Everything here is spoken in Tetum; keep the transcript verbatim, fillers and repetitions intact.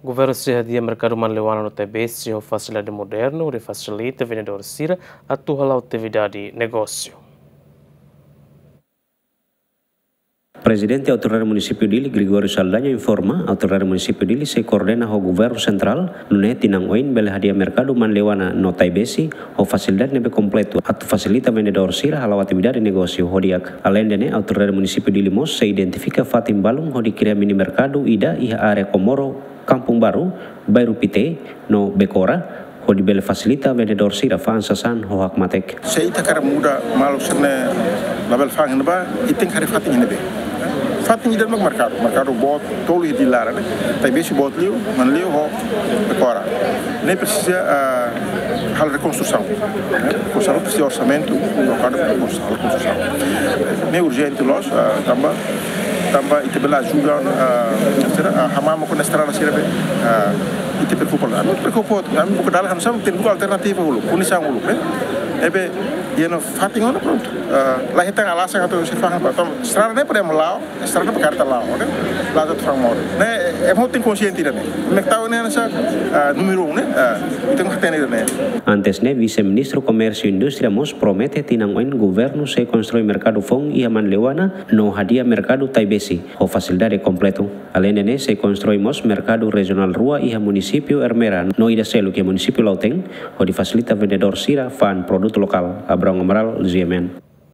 Governu sei hadi'a merkadu Manleuana no Taibesi ho fasilidade modernu hodi fasilita vendedór sira atu hala'o atividade negósiu. Prezidente Autoridade Munisípiu Dili, Gregório Saldanha, informa Autoridade Munisípiu Dili sei koordena ho Governu Sentrál, nune'e tinan oin bele hadi'a merkadu Manleuana no Taibesi ho fasilidade ne'ebé kompletu atu fasilita vendedór sira hala'o atividade negósiu ho di'ak. Aleinde ne'e, Autoridade Munisípiu Dili mós sei identifika fatin balun hodi kria mini merkadu ida iha área Comoro, Kampung Baru, Bairru Pité no Becora, hodi bele fasilita vendedór sira fa'an sasán ho hakmatek. Se ita hakarak muda maluk sira-ne'e labele fa'an iha ne'ebá, ita tenke hadi'a fatin iha ne'ebé. Fatin ida mak merkadu, merkadu boot tolu iha Dili laran ne'e. Taibesi boot liu, Manleu ho Becora. Ne'e presiza, ah, halo rekonstrusaun. Rekonstrusaun presiza orsamentu, merkadu halo rekonstrusaun. Ne'e urjente loos, ah, tanba, tanba ita bele ajuda, ah, sira, ah, hamamuk ho estrada sira be, ah, ita preokupa. Ami preokupa, ami buka dalan hanesan, tenke buka alternativa uluk, kondisaun uluk, ne'e. Ne'ebé, iha ona fatin ona prontu. Ah, la hetan alasan atu sei fa'an ba. Tanba estrada ne'e para ema la'o, estrada para karreta la'o, ne'e. La'o atu fa'an modo. Ne'e, ema tenke konsiente ida-ne'e. Mak tau ne'e hanesan, ah, númeru um, ne'e. Ah, ita tenke hatene ida-ne'e. Antes ne'e, Vise-Ministru Komérsiu Indústria mós promete tinan oin Governu sei konstrui merkadu foun iha Manleuana no hadi'a merkadu Taibesi ho fasilidade kompletu. Aleinde ne'e, sei konstrui mós merkadu rejionál rua iha munisípiu Ermera no ida seluk iha munisípiu Lautém, hodi fasilita vendedór sira fa'an produtu lokál. Abrão Amaral, G M N.